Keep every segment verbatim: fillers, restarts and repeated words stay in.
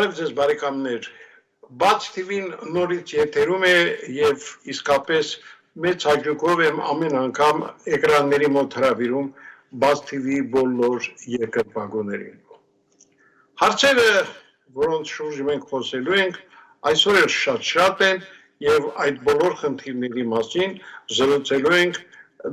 Բարև ձեզ բարեկամներ, Բաց թիվին նորից եթերում է և իսկապես մեծ հաճույքով եմ ամեն անգամ էկրանների մոտ հրավիրում Բաց թիվի բոլոր երկրպագուներին։ Հարցերը, որոնց շուրջ մենք խոսելու ենք, այսօր էլ շատ-շատ են և այդ բոլոր խնդիրների մասին զրուցելու ենք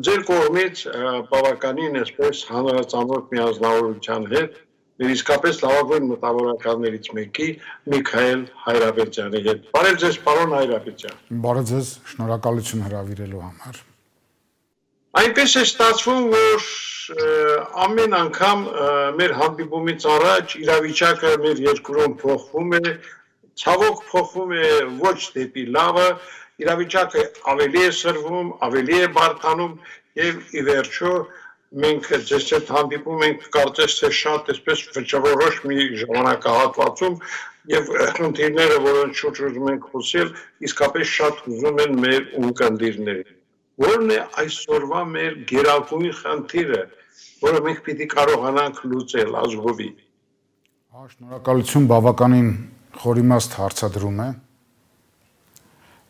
ձեր կողմից բավականին այսպես հանրածանոթ միանձնավորության հետ Մեր իսկապես լավագույն մտավորականներից մեկի Միքայել Հայրապետյանի հետ։ Բարև ձեզ, պարոն Հայրապետյան։ Բարև ձեզ, շնորհակալություն հրավիրելու համար։ Այնպես է ստացվում, որ ամեն անգամ մեր հանդիպումից առաջ իրավիճակը մեր երկրում փոխվում է, ցավոք փոխվում է ոչ դեպի լավը, իրավիճակը ավելի է սրվում, ավելի է բարդանում եւ ի վերջո մենք ձեզ հետ հանդիպում ենք կարծես թե շատ այսպես վճռորոշ մի ժամանակահատվածում եւ խնդիրները, որոնց շուրջ ուզում ենք խոսել, իսկապես շատ ուզում են մեր ունկնդիրները։ Որն է այսօրվա մեր գերակույն խնդիրը, որը մենք պիտի կարողանանք լուծել ազգովի։ Հա, շնորհակալություն, բավականին խորիմաստ հարցադրում է։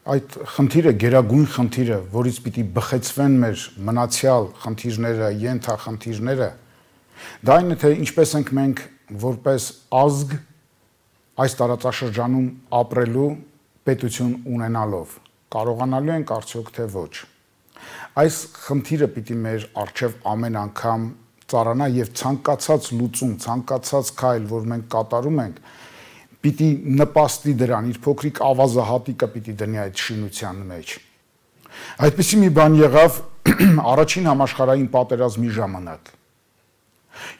Այդ խնդիրը, գերագույն խնդիրը, որից պիտի բխեցվեն մեր մնացյալ խնդիրները, ենթախնդիրները, դա այն է, թե ինչպես ենք մենք որպես ազգ այս տարածաշրջանում ապրելու պետություն ունենալով, կարողանալու ենք արդյոք թե ոչ։ Այս խնդիրը պիտի մեր առջև ամեն անգամ ծառանա եւ ցանկացած լուծում, ցանկացած քայլ, որ մենք կատարում ենք, պիտի նպաստի դրան, իր փոքրիկ ավազահատիկը պիտի դնի այդ շինության մեջ։ Այդպիսի մի բան եղավ առաջին համաշխարհային պատերազմի ժամանակ,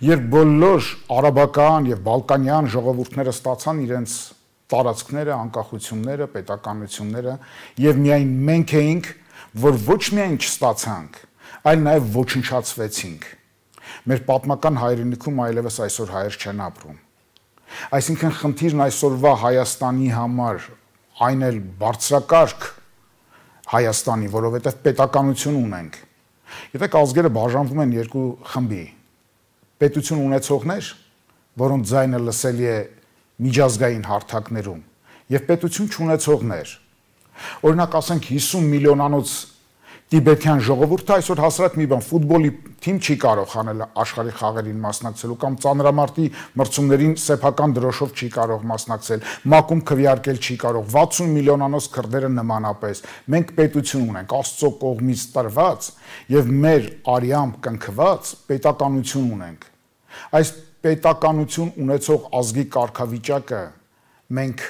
երբ բոլոր արաբական եւ բալկանյան ժողովուրդները ստացան իրենց տարածքները, անկախությունները, պետականությունները եւ միայն մենք էինք, որ ոչ միայն չստացանք, այլ նաեւ ոչնչացվեցինք։ Մեր պատմական հայրենիքում այլևս այսօր հայեր չեն ապրում։ Այսինքն խնդիրն այսօրվա Հայաստանի համար այն էլ բարձրակարգ Հայաստանի, որովհետև պետականություն ունենք։ Եթե ազգերը բաժանվում են երկու խմբի, պետություն ունեցողներ, որոնց ձայնը լսելի է միջազգային հարթակներում, եւ պետություն չունեցողներ։ Օրինակ ասենք հիսուն միլիոնանոց տիբեթյան ժողովուրդը այսօր հասարակ մի բան ֆուտբոլի թիմ չի կարող խանել աշխարհի խաղերին մասնակցելու կամ ծանրամարտի մրցումներին սեփական դրոշով չի կարող մասնակցել, մակում քվեարկել չի կարող, վաթսուն միլիոնանոց քրդերը նմանապես։ Մենք պետություն ունենք, Աստծո կողմից տրված եւ մեր արյամբ կնքված պետականություն ունենք։ Այս պետականություն ունեցող ազգի կարգավիճակը մենք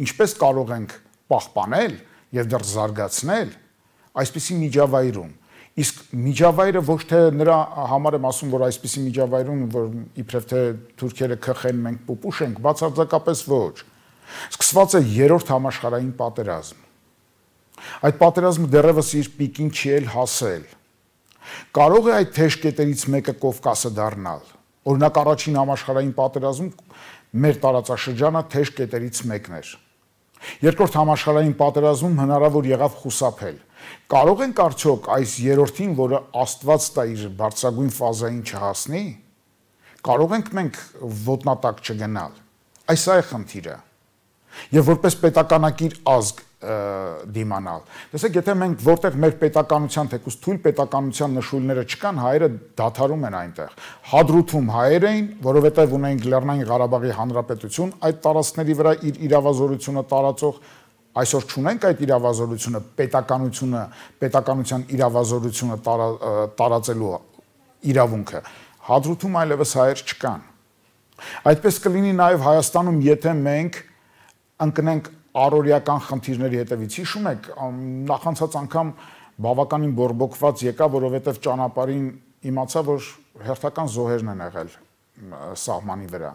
ինչպես կարող ենք պահպանել եւ դեռ զարգացնել այսպիսի միջավայրում, իսկ միջավայրը ոչ թե նրա համար եմ ասում, որ այսպիսի միջավայրում, որ իբրև թե թուրքերը քխեն, մենք պուպուշ ենք, բացարձակապես ոչ։ Սկսված է երրորդ համաշխարհային պատերազմ։ Այդ պատերազմը դեռևս իր պիկին չի էլ հասել։ Կարող է այդ թեժ կետերից մեկը Կովկասը դառնալ։ Օրինակ առաջին համաշխարհային պատերազմում մեր տարածաշրջանը թեժ կետերից մեկն էր։ Երկրորդ համաշխարհային պատերազմում հնարավոր եղավ խուսափել։ Կարող ենք արդյոք այս երրորդին, որը Աստված տա իր բարձրագույն ֆազային չհասնի, կարող ենք մենք ոտնատակ չգնալ։ Այս է խնդիրը։ Եվ որպես պետականակիր ազգ դիմանալ։ Տեսեք, եթե մենք որտեղ մեր պետականության, թեկուզ թույլ պետականության նշույլները չկան, հայերը դադարում են այնտեղ։ Հադրութում հայեր էին, որովհետև ունեին Լեռնային Ղարաբաղի Հանրապետություն, այդ տարածքների վրա իր իրավազորությունը տարածող Այսօր չունենք այդ իրավազորությունը, պետականությունը, պետականության իրավազորությունը տարածելու իրավունքը։ Հադրութում այլևս հայեր չկան։ Այդպես կլինի նաև Հայաստանում, եթե մենք ընկնենք առօրյական խնդիրների հետևից։ Հիշում եք, նախանցած անգամ բավականին բորբոքված եկա, որովհետև ճանապարհին իմացա, որ հերթական զոհերն են եղել սահմանի վրա։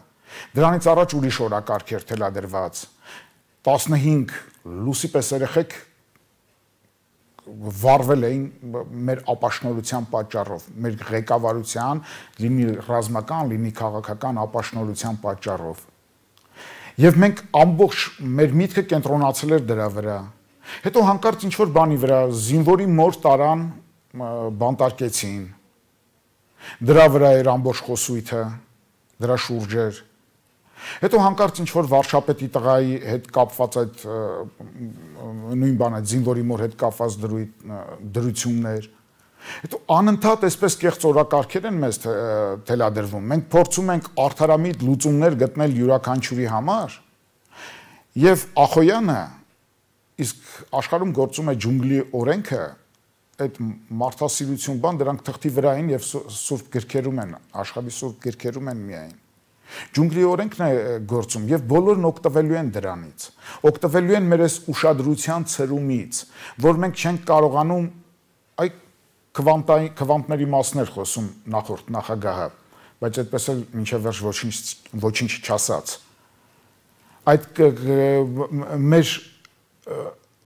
Դրանից առաջ ուրիշ օրակարգ էր թելադրված։ տասնհինգ լուսի պես երեխեք վառվել էին մեր ապաշնորհության պատճառով, մեր ղեկավարության, լինի ռազմական, լինի քաղաքական ապաշնորհության պատճառով։ Եվ մենք ամբողջ մեր միտքը կենտրոնացել էր դրա վրա։ Հետո հանկարծ ինչ որ բանի վրա զինվորի մոր տարան բանտարկեցին։ Դրա վրա էր ամբողջ խոսույթը, դրա շուրջ էր։ Հետո հանկարծ ինչ որ վարշապետի տղայի հետ կապված այդ նույն բանը զինվորի մոր հետ կապված դրություններ։ Հետո անընդհատ այսպես կեղծ օրակարգեր են մեզ թելադրվում։ Մենք փորձում ենք արդարամիտ լուծումներ գտնել յուրաքանչյուրի համար, եւ Ախոյանը իսկ աշխարհում գործում է ջունգլի օրենքը, այդ մարդասիրություն բան դրանք թղթի վրա են եւ սուրբ գրքերում են, աշխարհի սուրբ գրքերում են միայն։ Ջունգլի օրենքն է գործում եւ բոլորն օգտվելու են դրանից։ Օգտվելու են մեր այս ուշադրության ցրումից, որ մենք չենք կարողանում այ քվանտային քվանտների մասներ խոսում նախորդ նախագահը, բայց այդպես էլ մինչև վերջ ոչինչ ոչինչ չասաց։ Այդ մեր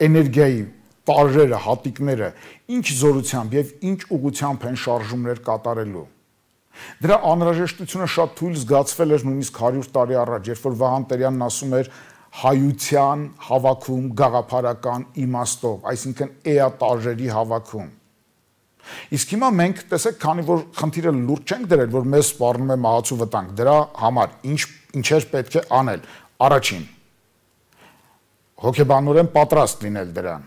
էներգիայի տարրերը, հատիկները ինչ զորությամբ եւ ինչ ուղղությամբ են շարժումներ կատարելու։ Դրա անհրաժեշտությունը շատ թույլ զգացվել էր նույնիսկ հարյուր տարի առաջ, երբ որ Վահան Տերյանն ասում էր հայության հավաքում գաղափարական իմաստով, այսինքն էատարժերի հավաքում։ Իսկ հիմա մենք տեսեք, քանի որ խնդիրը լուրջ չենք դրել, որ մեզ սպառնում է մահացու վտանգ, դրա համար ինչ ինչեր պետք է անել։ Առաջին, հոգեբանորեն պատրաստ լինել դրան,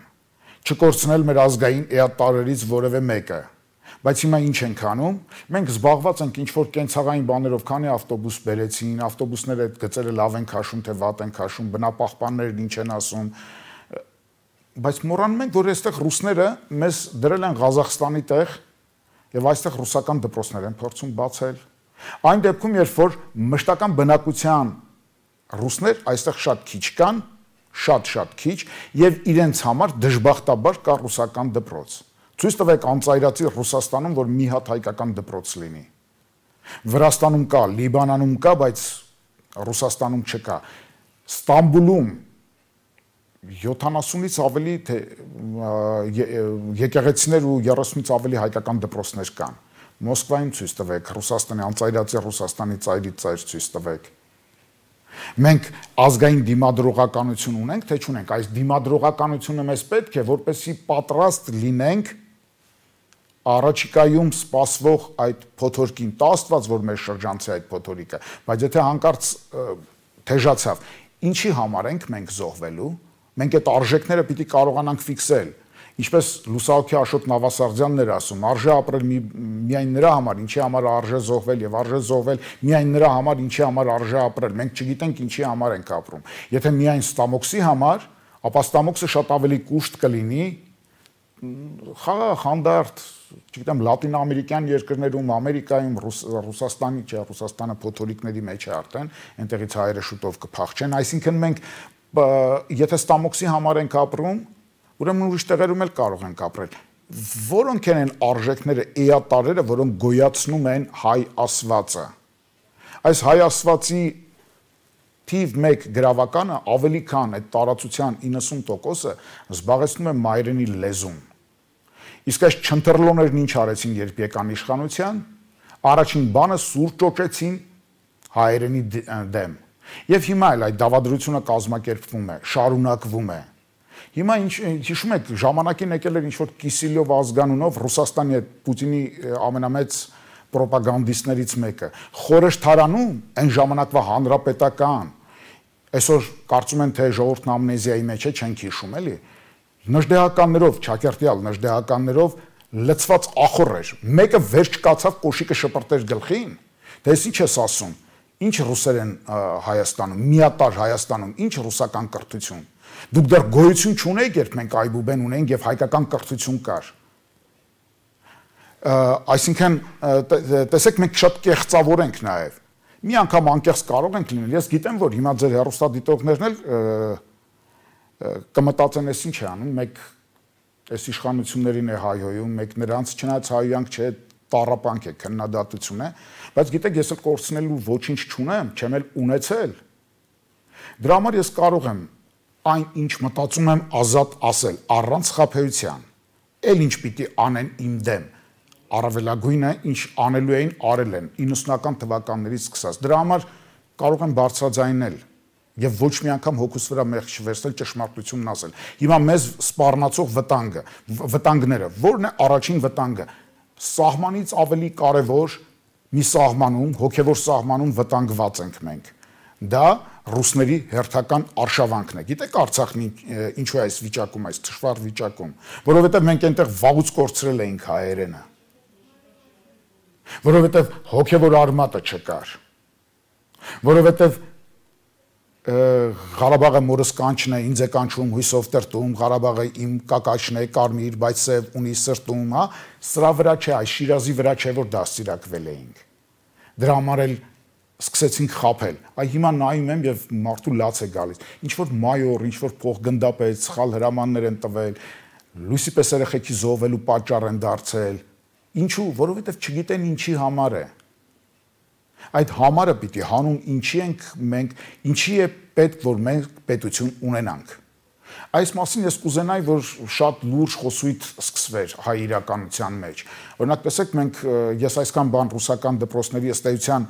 չկորցնել մեր ազգային էատարերից որևէ մեկը։ Բայց հիմա ինչ ենք անում։ Մենք զբաղված ենք ինչ-որ կենցաղային բաներով, քանի ավտոբուս բերեցին, ավտոբուսները այդ գծերը լավ են քաշում, թե վատ են քաշում, բնապահպաններն ինչ են ասում։ Բայց մոռանում ենք, որ այստեղ ռուսները մեզ դրել են Ղազախստանի տեղ եւ այստեղ ռուսական դպրոցներ են փորձում բացել։ Այն դեպքում, երբ որ մշտական բնակության ռուսներ այստեղ շատ քիչ կան, շատ-շատ քիչ, եւ իրենց համար դժբախտաբար կա ռուսական դպրոց։ Ցույց տվեք անծայրացի Ռուսաստանում, որ մի հատ հայկական դպրոց լինի։ Վրաստանում կա, Լիբանանում կա, բայց Ռուսաստանում չկա։ Ստամբուլում յոթանասունից ավելի թե եկեղեցիներ ու երեսունից ավելի հայկական դպրոցներ կան։ Մոսկվայում ցույց տվեք, Ռուսաստանի անծայրացի Ռուսաստանի ծայրից ծայր ցույց տվեք։ Մենք ազգային դիմադրողականություն ունենք, թե չունենք, այս դիմադրողականությունը մեզ պետք է, որպեսզի պատրաստ լինենք առաջիկայում սպասվող այդ փոթորկին, տաստված, որ մեր շրջանցի այդ փոթորիկը, բայց եթե հանկարծ թեժացավ, ինչի համար ենք մենք զոհվելու, մենք այդ արժեքները պիտի կարողանանք ֆիքսել, ինչպես լուսահոգի Աշոտ Նավասարդյանն էր ասում, արժե ապրել մի, միայն նրա համար, ինչի համար արժե զոհվել եւ արժե զոհվել միայն նրա համար, ինչի համար արժե ապրել, մենք չգիտենք ինչի համար ենք ապրում, եթե միայն Ստամոքսի համար, ապա Ստամոքսը շատ ավելի կուշտ կլինի խաղաղ, հանդարտ, չգիտեմ, լատինամերիկյան երկրներում, Ամերիկայում, Ռուսաստանի, չէ, Ռուսաստանը փոթորիկների մեջ է արդեն, այնտեղից հայերը շուտով կփախչեն, այսինքն մենք եթե Ստամոքսի համար ենք ապրում, ուրեմն ուրիշ տեղերում էլ կարող ենք ապրել։ Որոնք են այն արժեքները, էատարերը, որոնք գոյացնում են հայ ասվածը։ Այս հայ ասվածի թիվ մեկ գրավականը ավելի քան այդ տարածության իննսուն տոկոսը զբաղեցնում է մայրենի լեզուն։ Իսկ այս չընտրլոներն ինչ արեցին, երբ եկան իշխանության, առաջին բանը սուր ճոճեցին հայերենի դեմ։ Եվ հիմա էլ այդ դավադրությունը կազմակերպվում է, շարունակվում է։ Հիմա ինչ հիշում եք, ժամանակին եկել էր ինչ-որ Կիսիլյով ազգանունով Ռուսաստանի այդ Պուտինի ամենամեծ պրոպագանդիստներից մեկը։ Խորհրդարանում այն ժամանակվա հանրապետական, այսօր կարծում են, թե ժողովուրդն ամնեզիայի մեջ է, չենք հիշում, էլի։ Նժդեհականներով, Չակերտյալ նժդեհականներով լցված ախոր էր։ Մեկը վերջ կացավ, կոշիկը շպրտեր գլխին։ Դե ինչ ես ասում։ Ինչ ռուսեր են Հայաստանում, միատար Հայաստանում, ինչ ռուսական կրթություն։ Դուք դեռ գոյություն չունեիք, երբ մենք այբուբեն ունենք եւ հայկական կրթություն կար։ Այսինքն, տեսեք, մենք շատ կեղծավոր ենք նաեւ։ Մի անգամ անկեղծ կարող ենք լինել։ Ես գիտեմ, որ հիմա ձեր հեռուստադիտողներն էլ կմտածեն, ես ինչ է անում, մեկ այս իշխանություններին է հայհոյում, մեկ նրանց չնայած հայհոյանք չէ, տառապանք է, քննադատություն է, բայց գիտեք, ես էլ կորցնելու ոչինչ չունեմ, չեմ էլ ունեցել։ Դրա համար ես կարող եմ այն ինչ մտածում եմ ազատ ասել, առանց խաբեության, էլ ինչ պիտի անեն իմ դեմ, առավելագույնը ինչ անելու էին, արել են, իննսունական թվականներից սկսած, դրա համար կարող եմ բարձրաձայնել եւ ոչ մի անգամ հոգուս վրա մեղք չվերցնել, ճշմարտությունն ասել։ Հիմա մեզ սպառնացող վտանգը, վտանգները, ո՞րն է առաջին վտանգը։ Սահմանից ավելի կարևոր մի սահմանում, հոգեվոր սահմանում վտանգված ենք մենք։ Դա ռուսների հերթական արշավանքն է։ Գիտեք Արցախն ինչու է այս վիճակում, այս թշվառ վիճակում, որովհետև մենք այնտեղ վաղուց կորցրել էինք հայերենը, որովհետև հոգևոր արմատը չկար, որովհետև Ղարաբաղը մորս կանչն է, ինձ է կանչում հույսով տրտում, Ղարաբաղը իմ կակաշն է, կարմիր, բայց սև ունի սրտում, հա, սրա վրա չէ, այս Շիրազի վրա չէ, որ դաստիարակվել էինք։ Դրա համար էլ սկսեցինք խաբել։ Այ հիմա նայում եմ եւ մարդու լաց է գալիս։ Ինչ որ մայոր, ինչ որ փոխգնդապետ, սխալ հրամաններ են տվել, լույսի պես երեխեքի զոհվելու պատճառ են դարձել։ Ինչու, որովհետեւ չգիտեն ինչի համար է։ Այդ համարը պիտի հանուն ինչի ենք մենք, ինչի է պետք, որ մենք պետություն ունենանք։ Այս մասին ես կուզենայի, որ շատ լուրջ խոսույթ սկսվեր հայ իրականության մեջ։ Օրինակ, տեսեք, մենք ես այսքան բան ռուսական դպրոցների ըստ էության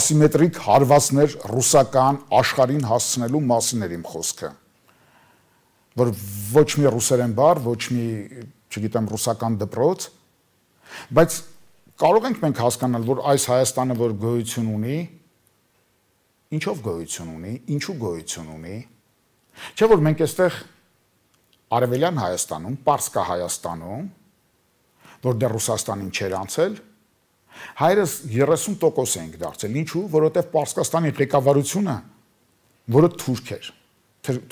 ասիմետրիկ հարվածներ ռուսական աշխարհին հասցնելու մասին էր իմ խոսքը։ Որ ոչ մի ռուսերեն բառ, ոչ մի, չգիտեմ, ռուսական դպրոց, բայց կարող ենք մենք հասկանալ, որ այս Հայաստանը, որ գոյություն ունի, ինչով գոյություն ունի, ինչու գոյություն ունի, չէ՞ որ մենք այստեղ Արևելյան Հայաստանում, Պարսկա Հայաստանում, որ դեռ Ռուսաստանին չէր անցել, հայերս երեսուն տոկոս ենք դարձել, ինչու, որովհետև Պարսկաստանի ղեկավարությունը, որը թուրք էր,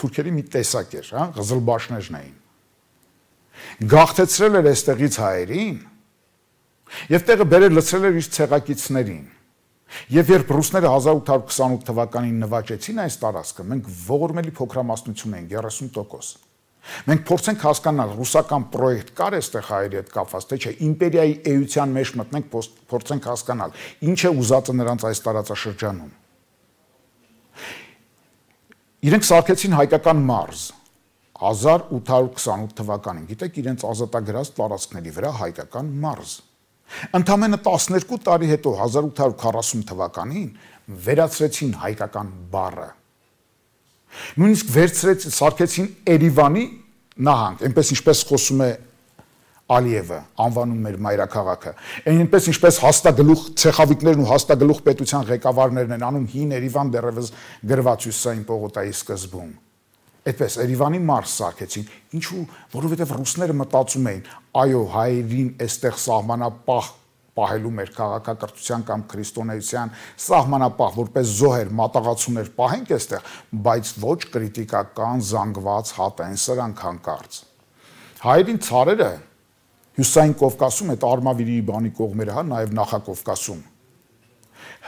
թուրքերի մի տեսակ էր, հա, ղզլբաշներն էին, գաղթեցրել էր այստեղից հայերին, եւ տեղը բերել լցրել էր իր ցեղակիցներին։ Եվ երբ ռուսները հազար ութ հարյուր քսանութ թվականին նվաճեցին այս տարածքը, մենք ողորմելի փոքրամասնություն ենք, երեսուն տոկոս։ Մենք փորձենք հասկանալ ռուսական պրոյեկտ կար այստեղ հայերի հետ կապված, թե չէ, իմպերիայի էության մեջ մտնենք, փորձենք հասկանալ, ինչ է ուզածը նրանց այս տարածաշրջանում։ Իրենք սարքեցին հայկական մարզ հազար ութ հարյուր քսանութ թվականին, գիտեք, իրենց ազատագրած տարածքների վրա հայկական մարզ։ Ընդամենը տասներկու տարի հետո հազար ութ հարյուր քառասուն թվականին վերացրեցին հայկական բառը։ Նույնիսկ վերցրեց, սարքեցին Երևանի նահանգ, այնպես ինչպես խոսում է Ալիևը, անվանում մեր մայրաքաղաքը, այնպես ինչպես հաստագլուխ ցեխավիկներն ու հաստագլուխ պետության ղեկավարներն են անում հին Երևան դեռևս գրված Հյուսիսային պողոտայի սկզբում։ Այդպես Երևանի մարզ սարքեցին, ինչու, որովհետև ռուսները մտածում էին, այո, հայերին այստեղ սահմանապահ պահելու մեր քաղաքակրթության կամ քրիստոնեության սահմանապահ, որպես զոհեր, մատաղացուներ պահենք այստեղ, բայց ոչ կրիտիկական, զանգված հատեն սրանք հանկարծ։ Հայերին ցարերը Հյուսիսային Կովկասում, այդ Արմավիրի բանի կողմերը, հա, նաև Նախակովկասում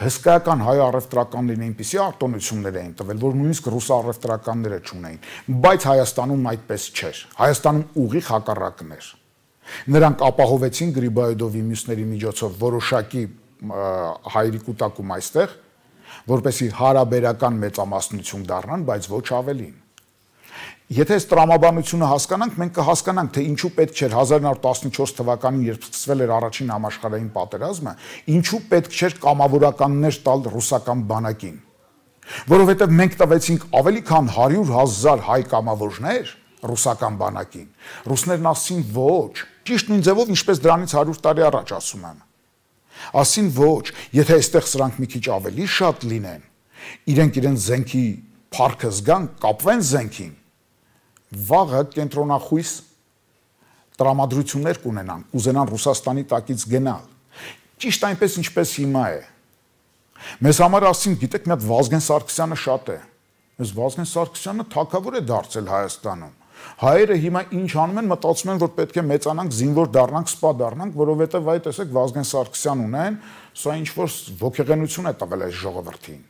հսկայական հայ առևտրականներին այնպիսի արտոնություններ էին տվել, որ նույնիսկ ռուս առևտրականները չունեին, բայց Հայաստանում այդպես չէր։ Հայաստանում ուղիղ հակառակն էր։ Նրանք ապահովեցին Գրիբայեդովի մյուսների միջոցով որոշակի հայերի կուտակում այստեղ, որպեսզի հարաբերական մեծամասնություն դառնան, բայց ոչ ավելին։ Եթե այս տրամաբանությունը հասկանանք, մենք կհասկանանք, թե ինչու պետք չէր հազար նոր տասնչորս թվականին, երբ սկսվել էր առաջին համաշխարհային պատերազմը, ինչու պետք չէր կամավորականներ տալ ռուսական բանակին։ Որովհետև մենք տվեցինք ավելի քան հարյուր հազար հայ կամավորներ ռուսական բանակին։ Ռուսներն ասին ոչ, ճիշտ նույն ձևով, ինչպես դրանից հարյուր տարի առաջ ասում եմ։ Ասին ոչ, եթե այստեղ սրանք մի քիչ ավելի շատ լինեն, իրենք իրենց զենքի փառքը զգան, կապվեն զենքին, վաղը կենտրոնախույս տրամադրություններ կունենան, կուզենան Ռուսաստանի տակից գնալ։ Ճիշտ այնպես ինչպես հիմա է։ Մեզ համար ասին, գիտեք, մի հատ Վազգեն Սարգսյանը շատ է։ Այս Վազգեն Սարգսյանը թագավոր է դարձել Հայաստանում։ Հայերը հիմա ինչ անում են, մտածում են, որ պետք է մեծանանք, զինվոր դառնանք, սպա դառնանք, որովհետև այ տեսեք Վազգեն Սարգսյան ունեն, սա ինչ որ ողջեղենություն է տվել այս ժողովրդին։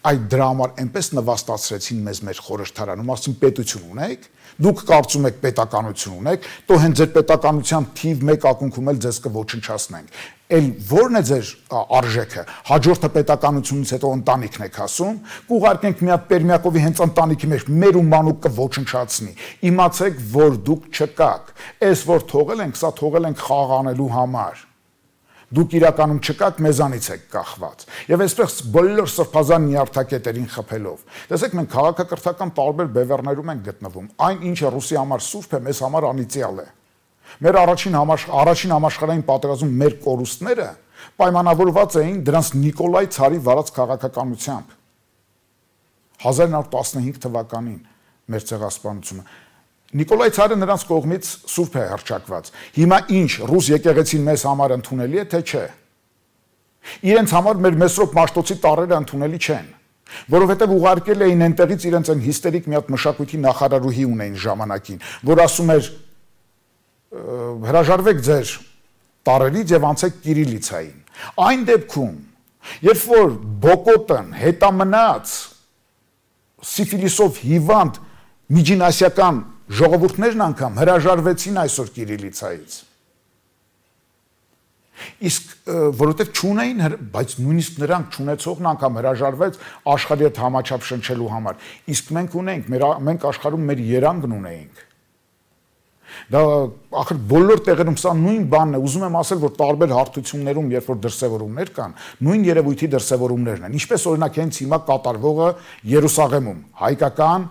Այդ դրա համար այնպես նվաստացրեցին մեզ մեր խորհրդարանում, ասում պետություն ունեք, դուք կարծում եք պետականություն ունեք, то հենց ձեր պետականության թիվ մեկ ակունքում էլ ձեզ կոչնչացնենք։ Էլ ո՞րն է ձեր արժեքը։ Հաջորդը պետականությունից հետո ընտանիքն եք ասում, կուղարկենք մի հատ Պերմյակովի հենց ընտանիքի մեջ մեր ու մանուկ կոչնչացնի։ Իմացեք, որ դուք չկաք։ Այս որ թողել ենք, սա թողել ենք խաղ անելու համար։ Դուք իրականում չկաք, մեզանից եք կախված։ Եվ այսպես բոլոր սրբազան նյարդակետերին խփելով։ Տեսեք, մենք քաղաքակրթական տարբեր բևեռներում ենք գտնվում։ Այն ինչը ռուսի համար սուրբ է, մեզ համար անիծյալ է։ Մեր առաջին առաջին համաշխարհային պատերազմում մեր կորուստները պայմանավորված էին դրանց Նիկոլայ ցարի վարած քաղաքականությամբ։ հազար նոր տասնհինգ թվականին մեր ցեղասպանությունը Նիկոլայ Ցարը նրանց կողմից սուրբ է հռչակված։ Հիմա ինչ ռուս եկեղեցին մեզ համար ընդունելի է, թե չէ։ Իրենց համար մեր Մեսրոպ Մաշտոցի տարրերը ընդունելի չեն, որովհետև ուղարկել էին այնտեղից իրենց այն հիստերիկ մի հատ մշակույթի նախարարուհի ունեին ժամանակին, որ ասում էր հրաժարվեք ձեր տարրերից եւ անցեք կիրիլիցային։ Այն դեպքում, երբ որ Բոկոտն հետամնաց սիֆիլիսով հիվանդ միջինասիական ժողովուրդներն անգամ հրաժարվեցին այսօր կիրիլիցայից։ Իսկ որովհետև չունեին, բայց նույնիսկ նրանք չունեցողն անգամ հրաժարվեց աշխարհի հետ համաչափ շնչելու համար։ Իսկ մենք ունենք, մենք աշխարհում մեր երանգն ունեինք։ Դա ախր բոլոր տեղերում սա նույն բանն է, ուզում եմ ասել, որ տարբեր հարթություններում, երբ որ դրսևորումներ կան, նույն երևույթի դրսևորումներն են։ Ինչպես օրինակ հենց հիմա կատարվողը Երուսաղեմում, հայկական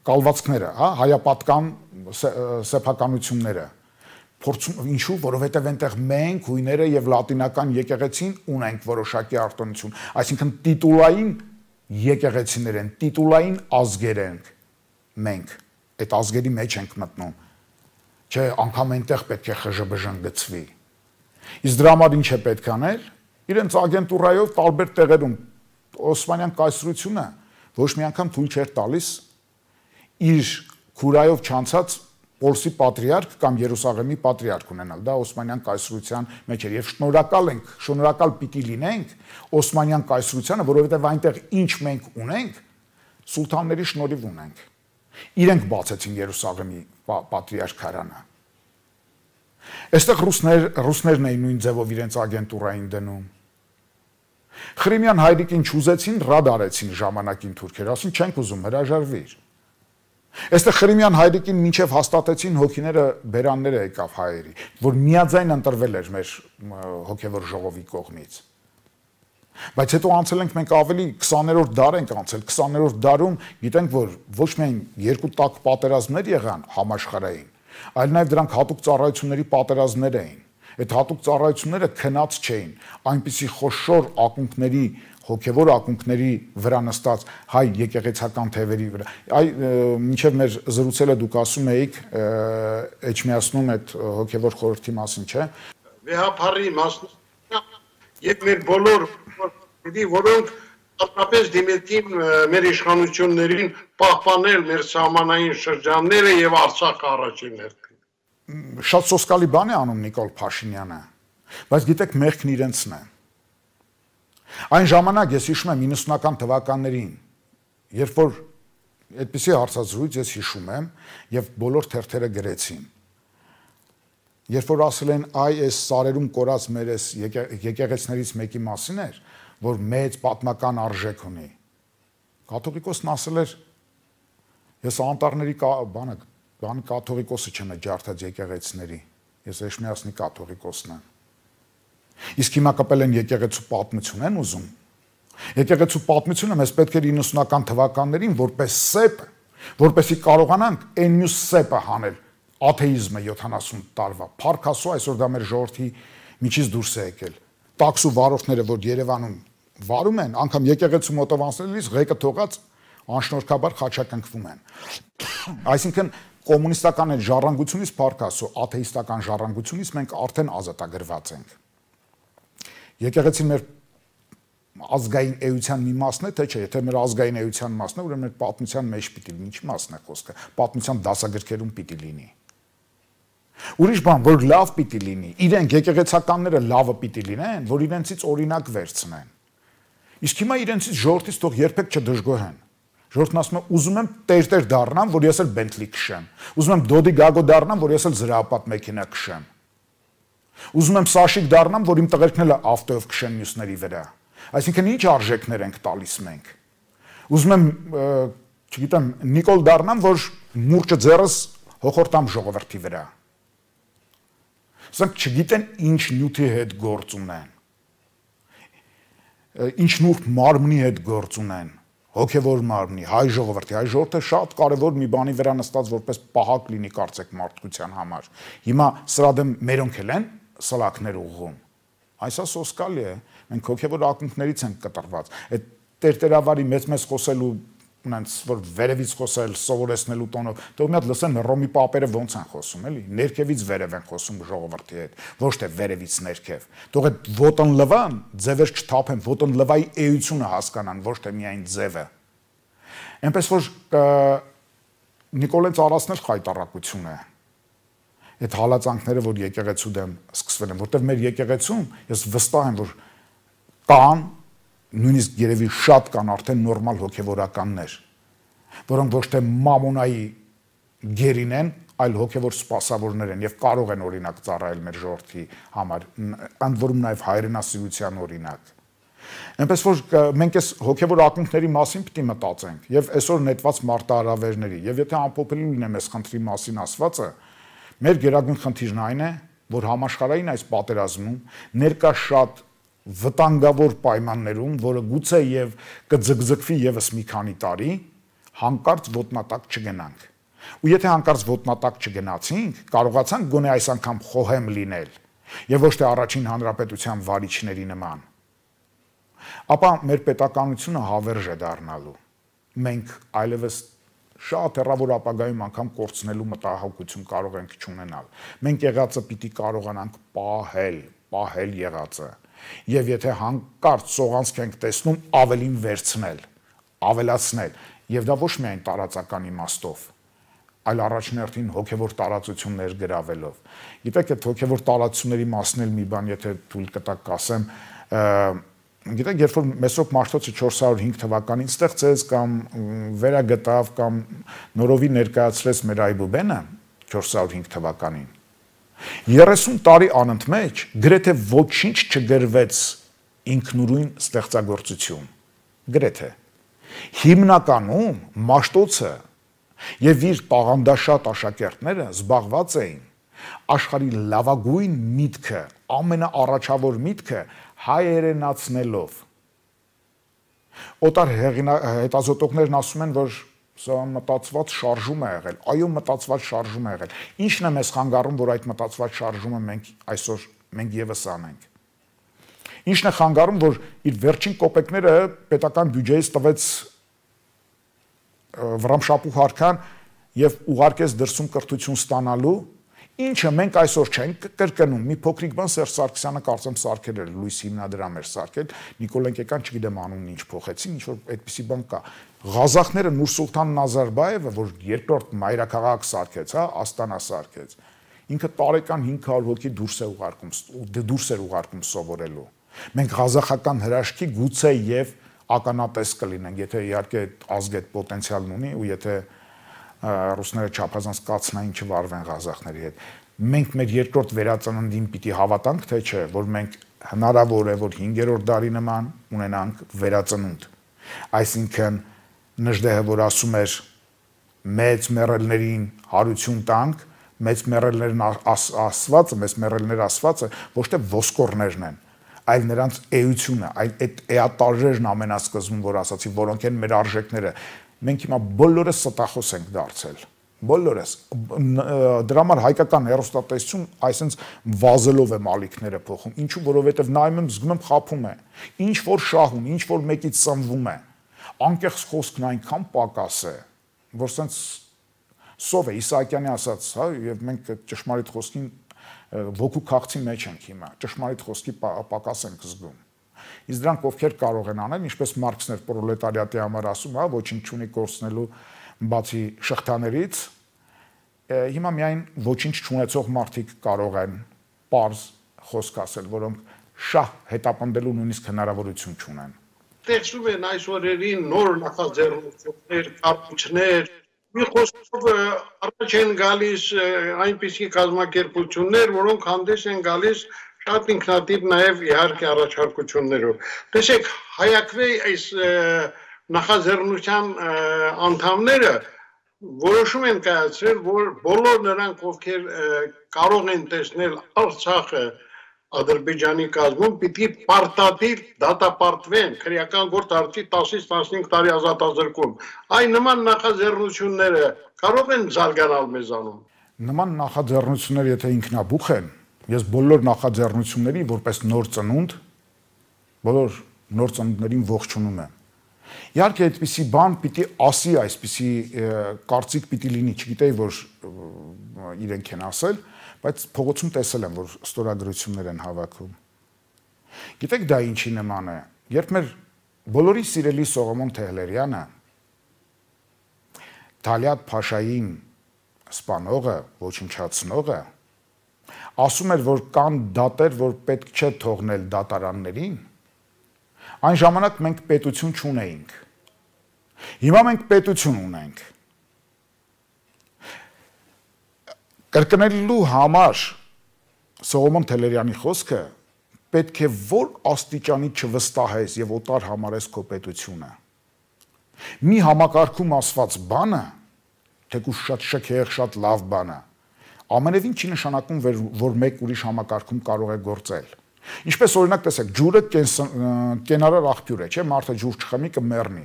կալվածքները, հա, հայապատկան սեփականությունները։ Փորձում ինչու, որովհետև այնտեղ մենք հույները եւ լատինական եկեղեցին ունենք որոշակի արտոնություն, այսինքն տիտուլային եկեղեցիներ են, տիտուլային ազգեր ենք մենք, այդ ազգերի մեջ ենք մտնում, չէ, անգամ այնտեղ պետք է խժբժն գծվի։ Իսկ դրա համար ինչ է պետք անել, իրենց ագենտուրայով տարբեր տեղերում Օսմանյան կայսրությունը ոչ մի անգամ թույլ չէր տալիս իր քուրայով չանցած Պոլսի պատրիարք կամ Երուսաղեմի պատրիարք ունենալ, դա Օսմանյան կայսրության մեջ էր, եւ շնորհակալ ենք, շնորհակալ պիտի լինենք Օսմանյան կայսրությանը, որովհետեւ այնտեղ ինչ մենք ունենք, սուլթանների շնորհիվ ունենք։ Իրենք բացեցին Երուսաղեմի պատրիարքարանը։ Այստեղ ռուսներ, ռուսներն էին նույն ձևով իրենց ագենտուրային դնում։ Խրիմյան հայրիկին չուզեցին, ռադ արեցին ժամանակին թուրքերը, ասին չենք ուզում, հրաժարվիր։ Այստեղ Խրիմյան հայրիկին մինչև հաստատեցին հոգիները բերանները եկավ հայերի, որ միաձայն ընտրվել էր մեր հոգևոր ժողովի կողմից։ Բայց հետո անցել ենք մենք ավելի քսաներորդ դար ենք անցել, քսաներորդ դարում գիտենք, որ ոչ միայն երկու տաք պատերազմներ եղան համաշխարհային, այլ նաև դրանք հատուկ ծառայությունների պատերազմներ էին։ Այդ հատուկ ծառայությունները քնած չէին, այնպիսի խոշոր ակունքների, հոգևոր ակունքների վրա նստած հայ եկեղեցական թևերի վրա։ Այ մինչև մեր զրուցելը դուք ասում էիք Էջմիածնում այդ հոգևոր խորհրդի մասին, չէ՞։ Վեհապարի մասն եւ մեր բոլոր որոնք հատկապես դիմեցին մեր իշխանություններին պահպանել մեր սահմանային շրջանները եւ Արցախը առաջին հերթին։ Շատ սոսկալի բան է անում Նիկոլ Փաշինյանը, բայց գիտեք մեղքն իրենցն է։ Այն ժամանակ ես հիշում եմ իննսունական թվականներին, երբ որ այդպիսի հարցազրույց ես հիշում եմ եւ բոլոր թերթերը գրեցին։ Երբ որ ասել են այ այս սարերում կորած մեր այս եկեղեցներից մեկի մասին էր, որ մեծ պատմական արժեք ունի։ Կաթողիկոսն ասել էր ես անտառների բանը բան կաթողիկոսը չեմ ջարդած եկեղեցիների, ես Էջմիածնի կաթողիկոսն եմ։ Իսկ հիմա կապել են եկեղեցու պատմություն են ուզում։ Եկեղեցու պատմությունը մեզ պետք էր իննսունական թվականներին որպես սեպ, որպեսի կարողանանք այն մյուս սեպը հանել, աթեիզմը յոթանասուն տարվա։ Փառք Աստծո, այսօր դա մեր ժողովրդի միջից դուրս է եկել։ Տաքսու վարորդները, որ Երևանում վարում են, անգամ եկեղեցու մոտով անցնելիս ղեկը թողած անշնորհքաբար խաչակնքվում են։ Այսինքն կոմունիստական այդ ժառանգությունից փառք Աստծո, աթեիստական ժառանգությունից մենք արդեն ազատագրված ենք։ Եկեղեցին մեր ազգային էության մի մասն է, թե չէ, եթե մեր ազգային էության մասն է, ուրեմն մեր պատմության մեջ պիտի լինի, ինչ մասն է խոսքը, պատմության դասագրքերում պիտի լինի։ Ուրիշ բան, որ լավ պիտի լինի, իրենք եկեղեցականները լավը պիտի լինեն, որ իրենցից օրինակ վերցնեն։ Իսկ հիմա իրենցից ժողովրդից թող երբեք չդժգոհեն։ Ժողովրդն ասում է, ուզում եմ տեր-տեր դառնամ, որ ես էլ Բենթլի քշեմ։ Ուզում եմ Դոդի Գագո դառնամ, որ ես էլ զրահապատ մեքենա քշեմ։ Ուզում եմ Սաշիկ դառնամ, որ իմ տղերքն էլ ավտոյով քշեն մյուսների վրա։ Այսինքն ինչ արժեքներ ենք տալիս մենք։ Ուզում եմ, չգիտեմ, Նիկոլ դառնամ, որ մուրճը ձեռս հոխորտամ ժողովրդի վրա։ Սրանք չգիտեն ինչ նյութի հետ գործ ունեն։ Ինչ նուրբ մարմնի հետ գործ ունեն, հոգևոր մարմնի, հայ ժողովրդի, հայ ժողովուրդը շատ կարևոր մի բանի վրա նստած որպես պահակ լինի կարծեք մարդկության համար։ Հիմա սրա դեմ մերոնք էլ են սլակներ ուղղում։ Այսա սոսկալի է, մենք հոգևոր ակունքներից ենք կտրված։ Այդ տերտերավարի մեծ-մեծ խոսելու ունենց որ վերևից խոսել սովորեցնելու տոնով, թող մի հատ լսեն Ռոմի պապերը ոնց են խոսում, էլի, ներքևից վերև են խոսում ժողովրդի հետ, ոչ թե վերևից ներքև։ Թող այդ ոտնլվան ձևեր չթափեն, ոտնլվայի էությունը հասկանան, ոչ թե միայն ձևը։ Այնպես որ Նիկոլեն Ծառացն էլ խայտառակություն է։ Այդ հալածանքները, որ եկեղեցու դեմ սկսվել են, որտեղ մեր եկեղեցում ես վստահ եմ, որ կան նույնիսկ երևի շատ կան արդեն նորմալ հոգևորականներ, որոնք ոչ թե մամոնայի գերին են, այլ հոգևոր սպասավորներ են եւ կարող են օրինակ ծառայել մեր ժողովրդի համար, ընդ որում նաեւ հայրենասիրության օրինակ։ Այնպես որ մենք այս հոգևոր ակունքների մասին պիտի մտածենք եւ այսօր նետված մարտահրավերների եւ եթե ամփոփելի լինեմ այս խնդրի մասին ասվածը, մեր գերագույն խնդիրն այն է, որ համաշխարհային այս պատերազմում ներկա շատ վտանգավոր պայմաններում, որը գուցե եւ կձգձգվի եւս մի քանի տարի, հանկարծ ոտնատակ չգնանք։ Ու եթե հանկարծ ոտնատակ չգնացինք, կարողացանք գոնե այս անգամ խոհեմ լինել եւ ոչ թե առաջին հանրապետության վարիչների նման, ապա մեր պետականությունը հավերժ է դառնալու։ Մենք այլևս շատ հեռավոր ապագայում անգամ կորցնելու մտահոգություն կարող ենք չունենալ։ Մենք եղածը պիտի կարողանանք պահել, պահել եղածը։ Եվ եթե հանկարծ սողանցք ենք տեսնում, ավելին վերցնել, ավելացնել, եւ դա ոչ միայն տարածական իմաստով, այլ առաջնորդին հոգեվոր տարածություններ գրավելով։ Գիտեք, այդ հոգեվոր տարածությունների մասն էլ մի բան, եթե թույլ կտակ ասեմ, գիտեք, երբ որ Մեսրոպ Մաշտոցը չորս հարյուր հինգ թվականին ստեղծեց կամ վերագտավ կամ նորովի ներկայացրեց մեր Այբուբենը չորս հարյուր հինգ թվականին, երեսուն տարի անընդմեջ գրեթե ոչինչ չգրվեց ինքնուրույն ստեղծագործություն, գրեթե։ Հիմնականում Մաշտոցը եւ իր տաղանդաշատ աշակերտները զբաղված էին աշխարհի լավագույն միտքը, ամենաառաջավոր միտքը հայերենացնելով։ Օտար հետազոտողներն ասում են, որ սա մտածված շարժում է եղել, այո, մտածված շարժում է եղել։ Ինչն է մեզ խանգարում, որ այդ մտածված շարժումը մենք այսօր մենք եւս անենք։ Ինչն է խանգարում, որ իր վերջին կոպեկները պետական բյուջեից տվեց Վրամշապուհ Հարքան եւ ուղարկեց դրսում կրթություն ստանալու, ինչը մենք այսօր չենք կրկնում։ Մի փոքրիկ բան Սերժ Սարգսյանը կարծեմ սարքել էր, լույս հիմնադրամ էր սարքել, Նիկոլեն Կեկան չգիտեմ անունն ինչ փոխեցին, ինչ որ այդպիսի բան կա։ Ղազախները Նուր Սուլթան Նազարբայևը, որ երկրորդ մայրաքաղաք սարքեց, հա, Աստանա սարքեց, ինքը տարեկան հինգ հարյուր հոգի դուրս է ուղարկում, դուրս էր ուղարկում սովորելու։ Մենք ղազախական հրաշքի գուցե եւ ականատես կլինենք, եթե իհարկե ազգը այդ պոտենցիալն ունի ու եթե ռուսները չափազանց կացնային չվարվեն ղազախների հետ։ Մենք մեր երկրորդ վերածննդին պիտի հավատանք, թե չէ, որ մենք հնարավոր է, որ հինգերորդ դարի նման ունենանք վերածնունդ։ Այսինքն Նժդեհը, որ ասում էր մեծ մեռելներին հարություն տանք, մեծ մեռելներն ասվածը, մեծ մեռելներ ասվածը ոչ թե ոսկորներն են, այլ նրանց էությունը, այլ այդ էատարժերն ամենասկզբում, որ ասացի, որոնք են մեր արժեքները։ Մենք հիմա բոլորս ստախոս ենք դարձել, բոլորս, դրա համար հայկական հեռուստատեսություն այսպես վազելով է մալիքները փոխում, ինչու, որովհետև նայում եմ, զգում եմ խափում է, ինչ որ շահում, ինչ որ մեկից սնվում է, անկեղծ խոսքն այնքան պակաս է, որ սենց սով է, Իսահակյանի ասած, հա, եւ մենք ճշմարիտ խոսքին ոգու քաղցի մեջ ենք հիմա, ճշմարիտ խոսքի պակաս ենք զգում։ Իսկ դրանք ովքեր կարող են անել, ինչպես Մարքսն էր պրոլետարիատի համար ասում, հա, ոչինչ չունի կորցնելու բացի շղթաներից, հիմա միայն ոչինչ չունեցող մարդիկ կարող են պարզ խոսք ասել, որոնք շահ հետապնդելու նույնիսկ հնարավորություն չունեն։ Տեսնում են այս օրերին նոր նախաձեռնություններ, կառույցներ, մի խոսքով առաջ են գալիս այնպիսի կազմակերպություններ, որոնք հանդես են գալիս շատ ինքնատիպ նաև իհարկե առաջարկություններով։ Տեսեք, Հայակվեի այս նախաձեռնության անդամները որոշում են կայացրել, որ բոլոր նրանք, ովքեր կարող են տեսնել Արցախը Ադրբեջանի կազմում, պիտի պարտադիր դատապարտվեն, քրեական գործ արդի տասից տասնհինգ տարի ազատազրկում։ Այն նման նախաձեռնությունները կարող են զարգանալ մեզանում։ Նման նախաձեռնությունները, եթե ինքնաբուխ են, ես բոլոր նախաձեռնությունների որպես նոր ծնունդ, բոլոր նոր ծնունդներին ողջունում եմ։ Իհարկե այդպիսի բան պիտի ասի, այսպիսի կարծիք պիտի լինի, չգիտեի, որ իրենք են ասել, բայց փողոցում տեսել եմ, որ ստորագրություններ են հավաքում։ Գիտեք դա ինչի նման է, երբ մեր բոլորի սիրելի Սողոմոն Թեհլերյանը Թալիաթ Փաշային սպանողը, ոչնչացնողը, ասում էր, որ կան դատեր, որ պետք չէ թողնել դատարաններին, այն ժամանակ մենք պետություն չունեինք։ Հիմա մենք պետություն ունենք։ Կրկնելու համար Սողոմոն Թեհլերյանի խոսքը պետք է որ աստիճանի չվստահես եւ օտար համարես քո պետությունը։ Մի համակարգում ասված բանը, թեկուզ շատ շքեղ, շատ լավ բան է, ամենևին չի նշանակում, որ մեկ ուրիշ համակարգում կարող է գործել։ Ինչպես օրինակ տեսեք, ջուրը կենարար աղբյուր է, չէ՞, մարդը ջուր չխմի կմեռնի։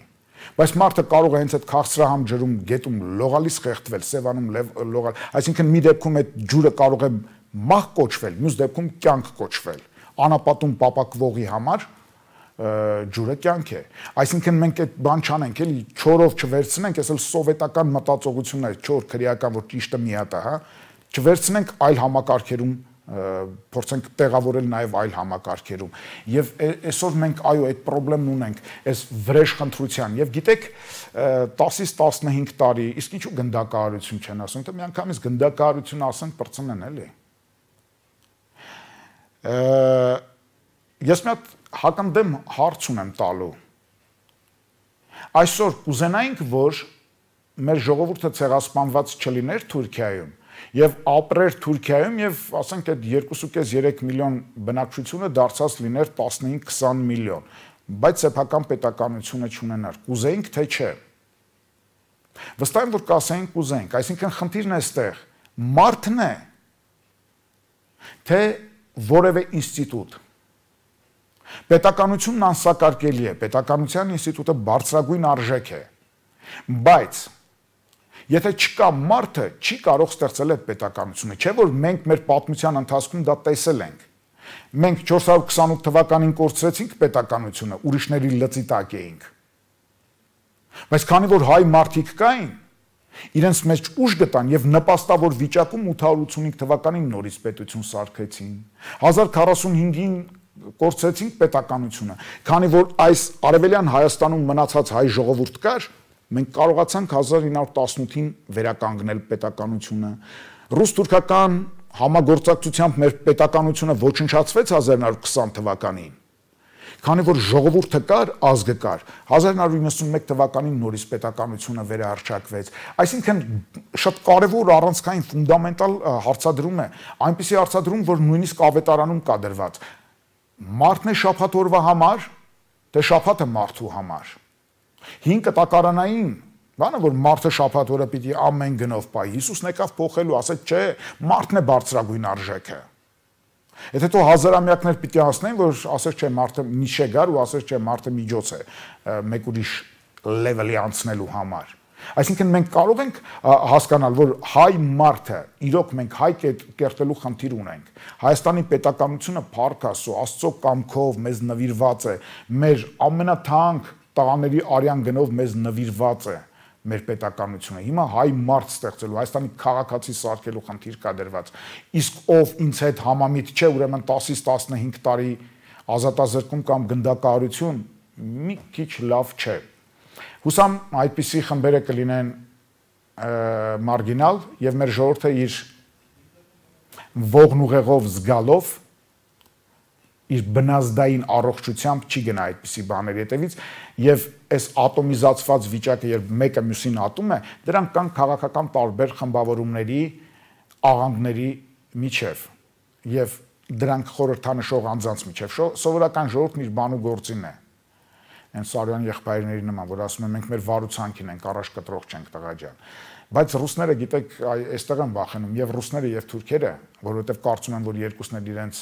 Բայց մարդը կարող է հենց այդ քաղցրահամ ջրում գետում լողալիս խեղդվել, սևանում լողալ, այսինքն մի դեպքում այդ ջուրը կարող է մահ կոչվել, մյուս դեպքում կյանք կոչվել։ Անապատում պապակվողի համար ջուրը կյանք է։ Այսինքն մենք այդ բան չանենք, էլի չորով չվերցնենք, այս էլ սովետական մտածողությունն է, չոր քրեական, որ ճիշտը մի հատ է, հա, չվերցնենք այլ համակարգերում փորձենք տեղավորել նաև այլ համակարգերում։ Եվ այսօր մենք այո այդ խնդրեմն ունենք, այս վրեժ խնդրության։ Եվ գիտեք, տասից տասնհինգ տարի, իսկ ինչու գնդակահարություն չեն ասում, թե միանգամից գնդակահարություն ասենք բրցնեն էլի։ Ես մի հատ հակընդդեմ հարց ունեմ տալու։ Այսօր կուզենայինք, որ մեր ժողովուրդը ցեղասպանված չլիներ Թուրքիայում եւ ապրեր Թուրքիայում եւ ասենք այդ երկու երեք միլիոն բնակչությունը դարձած լիներ տասնհինգ քսան միլիոն, բայց սեփական պետականությունը չունենար։ Կուզեինք թե չէ։ Վստահ եմ, որ կասեինք կուզեինք, այսինքն խնդիրն է այստեղ, մարդն է, թե որևէ ինստիտուտ։ Պետականությունն անսակարկելի է, պետականության ինստիտուտը բարձրագույն արժեք է, բայց եթե չկա մարդը, չի կարող ստեղծել այդ պետականությունը, չէ՞ որ մենք մեր պատմության ընթացքում դա տեսել ենք։ Մենք չորս հարյուր քսանութ թվականին կորցրեցինք պետականությունը, ուրիշների լծի տակ էինք։ Բայց քանի որ հայ մարդիկ կային, իրենց մեջ ուժ գտան եւ նպաստավոր վիճակում ութ հարյուր ութսունհինգ թվականին նորից պետություն սարքեցին։ հազար քառասունհինգին կորցրեցինք պետականությունը, քանի որ այս արևելյան Հայաստանում մնացած հայ ժողովուրդ կար, մենք կարողացանք հազար ինը հարյուր տասնութին վերականգնել պետականությունը։ Ռուս-թուրքական համագործակցությամբ մեր պետականությունը ոչնչացվեց հազար ինը հարյուր քսան թվականին։ Քանի որ ժողովուրդը կար, ազգը կար, հազար ինը հարյուր իննսունմեկ թվականին նորից պետականությունը վերահռչակվեց։ Այսինքն շատ կարևոր առանցքային ֆունդամենտալ հարցադրում է, այնպիսի հարցադրում, որ նույնիսկ ավետարանում կա դրված։ Մարդն է շաբաթ օրվա համար, թե շաբաթը մարդու համար։ Հին կտակարանային բանը, որ մարդը շաբաթ օրը պիտի ամեն գնով պահի, Հիսուսն եկավ փոխելու, ասեց, չէ, մարդն է բարձրագույն արժեքը։ Եթե թող հազարամյակներ պիտի անցնեն, որ ասես չէ, մարդը միջե գար ու ասես չէ, մարդը միջոց է մեկ ուրիշ լեվելի անցնելու համար։ Այսինքն մենք կարող ենք հասկանալ, որ հայ մարդը, իրոք մենք հայ կերտելու խնդիր ունենք։ Հայաստանի պետականությունը փառք Աստծո, Աստծո կամքով մեզ նվիրված է, մեր ամենաթանկ տղաների արյան գնով մեզ նվիրված է մեր պետականությունը։ Հիմա հայ մարդ ստեղծելու, Հայաստանի քաղաքացի սարքելու խնդիր կա դրված։ Իսկ ով ինձ հետ համամիտ չէ, ուրեմն տասից տասնհինգ տարի ազատազրկում կամ գնդակահարություն մի քիչ լավ չէ։ Հուսամ այդպիսի խմբերը կլինեն մարգինալ եւ մեր ժողովուրդը իր ողն ուղեղով զգալով իր բնազդային առողջությամբ չի գնա այդպիսի բաների հետևից եւ այս ատոմիզացված վիճակը, երբ մեկը մյուսին ատում է, դրանք կան քաղաքական տարբեր խմբավորումների աղանդների միջև եւ դրանք խորհրդանշող անձանց միջև սովորական ժողովուրդն իր բանու գործին է։ Այն Սարոյան եղբայրների նման, որ ասում են մենք մեր վարուցանքին ենք, առաջ կտրող չենք տղա ջան։ Բայց ռուսները, գիտեք, այստեղ են վախենում եւ ռուսները եւ թուրքերը, որովհետեւ կարծում են, որ երկուսն էլ իրենց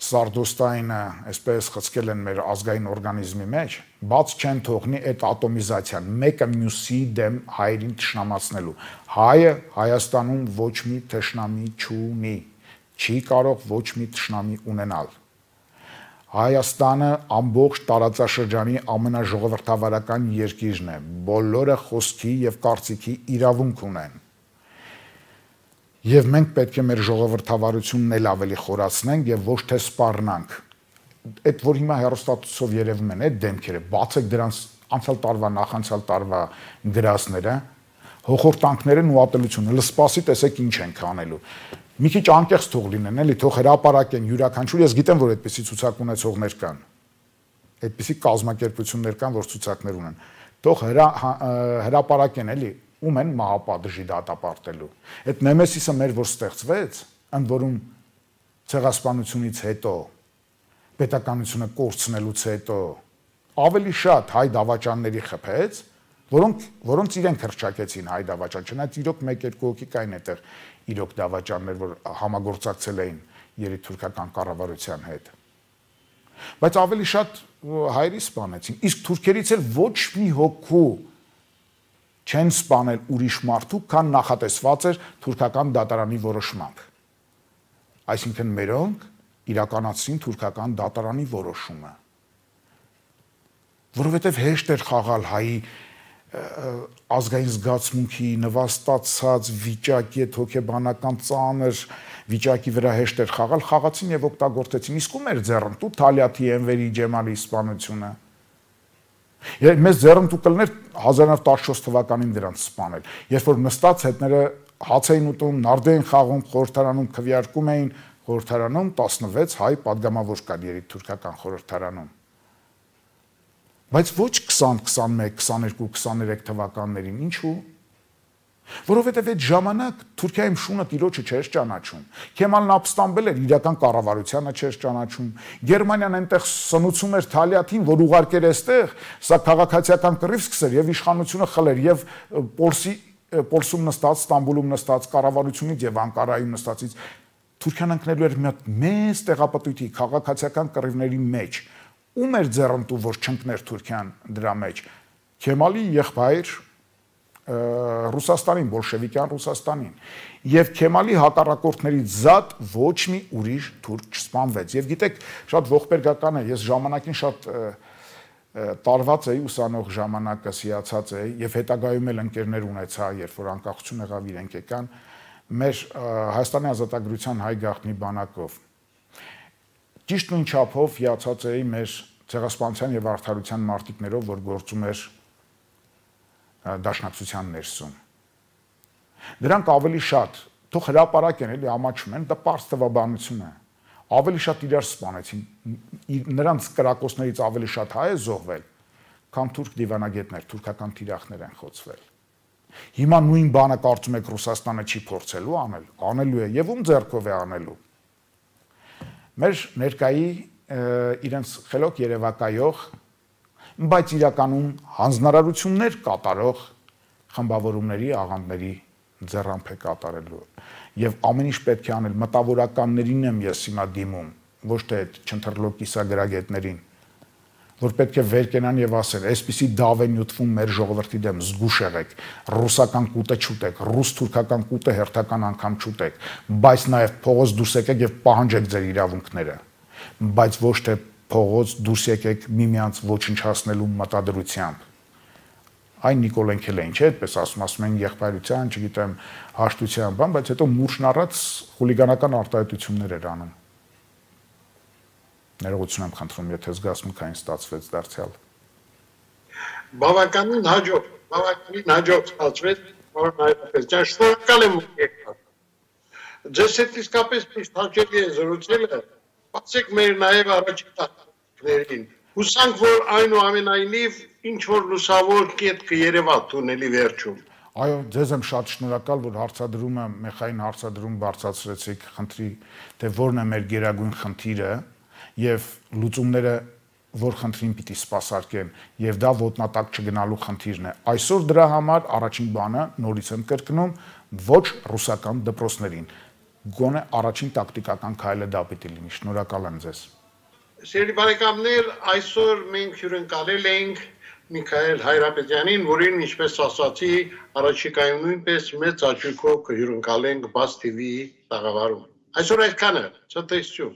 սարդոստայինը այսպես խցկել են մեր ազգային օրգանիզմի մեջ, բաց չեն թողնի այդ ատոմիզացիան, մեկը մյուսի դեմ հայերին թշնամացնելու։ Հայը Հայաստանում ոչ մի թշնամի չունի, չի կարող ոչ մի թշնամի ունենալ։ Հայաստանը ամբողջ տարածաշրջանի ամենաժողովրդավարական երկիրն է, բոլորը խոսքի եւ կարծիքի իրավունք ունեն։ Եվ մենք պետք է մեր ժողովրդավարությունն էլ ավելի խորացնենք եւ ոչ թե սպառնանք։ Այդ որ հիմա հեռուստացույցով երևում են այդ դեմքերը, բացեք դրանց անցյալ տարվա, նախանցյալ տարվա գրասները, հոխորտանքներն ու ատելությունը, լսպասի տեսեք ինչ ենք անելու։ Մի քիչ անկեղծ թող լինեն, էլի, թող հրապարակեն յուրաքանչյուր, ես գիտեմ, որ այդպիսի ցուցակ ունեցողներ կան։ Այդպիսի կազմակերպություններ կան, որ ցուցակներ ունեն։ Թող հրապարակեն, էլի, ում են մահապատժի դատապարտելու։ Այդ նեմեսիսը մեր որ ստեղծվեց, ընդ որում ցեղասպանությունից հետո, պետականությունը կորցնելուց հետո ավելի շատ հայ դավաճանների խփեց, որոնք որոնց իրենք հրճակեցին հայ դավաճան, չնայած իրոք մեկ-երկու հոգի կային այդտեղ իրոք դավաճաններ, որ համագործակցել էին երիտթուրքական կառավարության հետ։ Բայց ավելի շատ հայերի սպանեցին, իսկ թուրքերից էլ ոչ մի հոգու չեն սպանել ուրիշ մարդու, քան նախատեսված էր թուրքական դատարանի որոշմամբ։ Այսինքն մերոնք իրականացրին թուրքական դատարանի որոշումը, որովհետև հեշտ էր խաղալ հայի ազգային զգացմունքի նվաստացած վիճակի հետ հոգեբանական ծանր վիճակի վրա հեշտ էր խաղալ, խաղացին եւ օգտագործեցին, իսկ ում էր ձեռնտու Թալյաթի, Էնվերի, Ջեմալի սպանությունը։ Եվ մեզ ձեռնտու կլներ հազար նավը տասնչորս թվականին դրանց սպանել, երբ որ նստած հետները հաց էին ուտում, նարդ էին խաղում, խորհրդարանում քվեարկում էին, խորհրդարանում տասնվեց հայ падգամավոր կար երիտթուրքական խորհրդարանում։ Բայց ոչ քսան, քսանմեկ, քսաներկու, քսաներեք թվականներին, ինչու՞։ Որովհետև այդ ժամանակ Թուրքիայում շունը տիրոջը չէր ճանաչում։ Քեմալն ապստամբել էր, իրական կառավարությանը չէր ճանաչում։ Գերմանիան այնտեղ սնուցում էր Թալյաթին, որ ուղարկեր այստեղ, սա քաղաքացիական կռիվ սկսեր եւ իշխանությունը խլեր եւ Պոլսի Պոլսում նստած, Ստամբուլում նստած, կառավարությունից եւ Անկարայում նստածից Թուրքիան ընկնելու էր մի հատ մեծ տեղապտույտի քաղաքացիական կռիվների մեջ։ Ում էր ձեռնտու, որ չընկներ Թուրքիան դրա մեջ։ Քեմալի եղբայր Ռուսաստանին, բոլշևիկյան Ռուսաստանին։ Եվ Քեմալի հակառակորդներից զատ ոչ մի ուրիշ թուրք չսպանվեց։ Եվ գիտեք, շատ ողբերգական է, ես ժամանակին շատ տարված էի, ուսանող ժամանակս հիացած էի եւ հետագայում էլ ընկերներ ունեցա, երբ որ անկախություն եղավ, իրենք եկան մեր Հայաստանի ազատագրության հայ գաղտնի բանակով։ Ճիշտ նույն չափով հիացած էի մեր ցեղասպանության եւ արդարության մարտիկներով, որ գործում էր դաշնակցության ներսում։ Դրանք ավելի շատ, թող հրապարակեն, էլի ամաչում են, դա պարզ տվաբանություն է։ Ավելի շատ իրար սպանեցին, նրանց կրակոցներից ավելի շատ հայ է զոհվել, քան թուրք դիվանագետներ, թուրքական թիրախներ են խոցվել։ Հիմա նույն բանը կարծում եք Ռուսաստանը չի փորձելու անել, անելու է եւ ում ձեռքով է անելու։ Մեր ներկայի իրենց խելոք երևակայող, բայց իրականում հանձնարարություններ կատարող խմբավորումների, աղանդների ձեռամբ է կատարելու։ Եվ ամեն ինչ պետք է անել, մտավորականներին եմ ես հիմա դիմում, ոչ թե չընթրլոկ կիսագրագետներին, որ պետք է վեր կենան եւ ասեն, այսպիսի դավ է նյութվում մեր ժողովրդի դեմ, զգուշ եղեք, ռուսական կուտը չուտեք, ռուս-թուրքական կուտը հերթական անգամ չուտեք, բայց նաեւ փողոց դուրս եկեք եւ պահանջեք ձեր իրավունքները, բայց ոչ թե փողոց դուրս եկեք միմյանց ոչնչացնելու մտադրությամբ։ Այն Նիկոլենքելային չէ, այդպես ասում, ասում են եղբայրության, չգիտեմ, հաշտության բան, բայց հետո մուրշն առած խուլիգանական արտահայտություններ էր անում։ Ներողություն եմ խնդրում, եթե զգացմունքային ստացվեց դարձյալ։ Բավականին հաջող, բավականին հաջող ստացվեց, որ Հայրապետյան, շնորհակալ եմ եկել։ Ձեզ հետ իսկապես միշտ հաճելի է զրուցելը, բացեք մեր նաև առաջին տակներին։ Հուսանք, որ այնուամենայնիվ ինչ-որ լուսավոր կետ կերևա թունելի վերջում։ Այո, ձեզ եմ շատ շնորհակալ, որ հարցադրումը, մեխային հարցադրում բարձրացրեցիք, խնդրի, թե որն է մեր գերագույն խնդիրը եւ լուծումները որ խնդրին պիտի սպասարկեն եւ դա ոտնատակ չգնալու խնդիրն է։ Այսօր դրա համար առաջին բանը նորից եմ կրկնում ոչ ռուսական դպրոցներին։ Գոնե առաջին տակտիկական քայլը դա պիտի լինի։ Շնորհակալ եմ ձեզ։ Սիրելի բարեկամներ, այսօր մենք հյուրընկալել ենք Միքայել Հայրապետյանին, որին ինչպես ասացի, առաջիկայում նույնպես մեծ աճույքով կհյուրընկալենք Բաց թի վի տաղավարում։ Այսօր այդքանը, ցտեսություն։